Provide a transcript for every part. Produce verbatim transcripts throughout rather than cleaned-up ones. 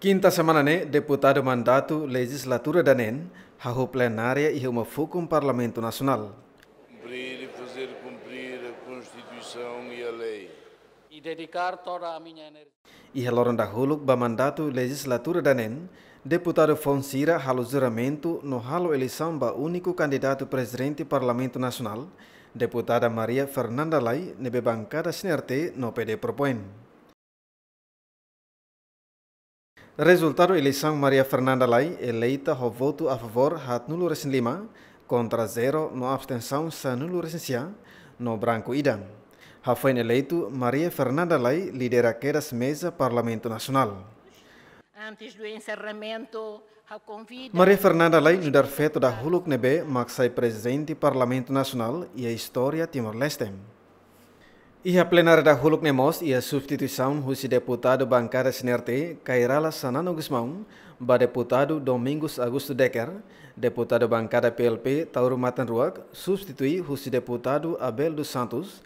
Kinta semana ne'e, deputadu mandatu lejizlatura daneen hahú plenária iha uma fukun Parlamentu Nasionál. Cumprir e fazer cumprir a Constituição e a lei. E dedicar toda a minha energia. Iha loron dahuluk ba mandatu lejizlatura daneen, deputadu foun sira halo juramentu no halo eleisaun ba úniku kandidatu prezidente Parlamentu Nasionál, deputada Maria Fernanda Lay, ne'ebé bankada CNRT no PD propoin. Rezultadu eleisaun: Maria Fernanda Lay eleita ho votu a favór haatnulu resin lima, kontra zero, no abstensaun sanulu resin sia, no branku ida. Hafoin eleitu, Maria Fernanda Lay lidera kedas meza Parlamentu Nasionál. Antes do encerramento, ha'u konvida. Maria Fernanda Lay nu'udar feto dahuluk ne'ebé mak sai prezidente Parlamentu Nasionál iha istória Timor-Leste. Iha plenária dahuluk ne'e mós iha substituisaun husi deputadu bankada CNRT, Kay Rala Xanana Gusmão, ba deputadu Domingos Augusto Decker, deputadu bankada PLP, Taur Matan Ruak, substitui husi deputadu Abel dos Santos,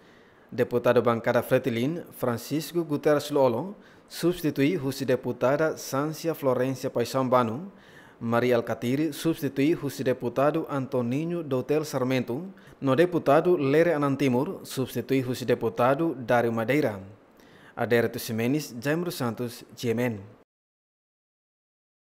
deputadu bankada Fretilin, Francisco Guterres Lú-Olo, substitui husi deputada Sancia Florencia Paixão Bano, Mari Alkatiri, substitui husi deputadu Antoninho Doutel Sarmento, no deputadu Lere Anan Timur, substitui husi deputadu Dário Madeira. Adérito Ximenes, Jaime dos Santos, GMN.